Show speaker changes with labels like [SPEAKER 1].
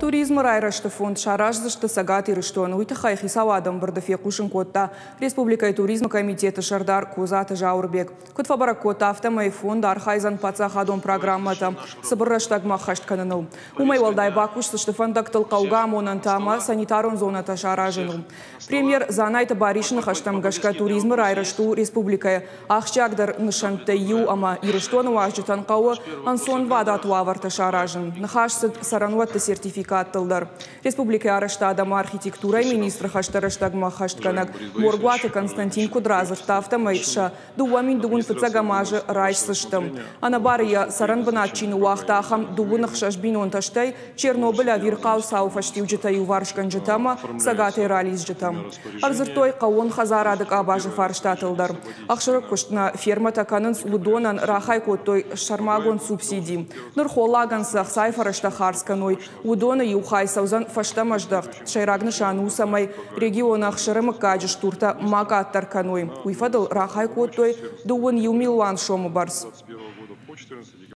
[SPEAKER 1] Туризмы райрӕзты фонд сараздзысты Цӕгат Ирыстоны. Уый тыххӕй хицауады ӕмбырды фехъусын кодта республикӕйы туризмы комитеты сӕрдар Козаты Зауырбег. Куыд фӕбӕрӕг кодта, афтӕмӕй фонд архайдзӕн паддзахадон программӕтӕ цыбыр рӕстӕгмӕ ӕххӕст кӕныныл. Уымӕй уӕлдай бакусдзысты фӕндӕгтыл хъӕугӕ амонӕнтӕ ӕмӕ санитарон зонӕтӕ саразыныл. Премьер Дзанайты Барисы ныхӕстӕм гӕсгӕ туризмы райрӕзт у республикӕйы ахсджиагдӕр нысӕнттӕй иу ӕмӕ Ирыстоны уазджытӕн хъӕуы ӕнцонвадат уавӕртӕ саразын. Ныхас цыд цӕрӕнуӕтты сертификаттыл дӕр. Республикӕйы арӕзтад ӕмӕ архитектурӕйы министры хӕстӕ рӕстӕгмӕ ӕххӕстгӕнӕг Моргуаты Константин куыд радзырдта, афтӕмӕй сӕ 2021 азы райсдзысты. Ӕнӕбары йӕ цӕрӕнбынат чи ныууагъта, ахӕм 26 бинонтӕ, стӕй Чернобылы ӕвирхъау цауы фӕстиуджытӕ иуварсгӕнджытӕ ӕмӕ Цӕгатӕй ралидзджытӕ. Ӕрдзырдтой хъӕууон хӕдзарады къабазы фарстатыл дӕр. Ӕхсыры куыст нӕ фермӕтӕ кӕнынц, уыдонӕн рахай кодтой сӕрмагонд субсиди. Ныр холлагӕн цы ӕхцайы фӕрӕзтӕ хардз кӕной, уыдоны иу хай цӕудзӕн фӕстӕмӕ здӕхт. Сӕйраг нысан у, цӕмӕй регионы ӕхсыры мыггаджы стуртӕ ма къаддӕр кӕной. Уый фӕдыл рахай кодтой 21 милуан сомы бӕрц.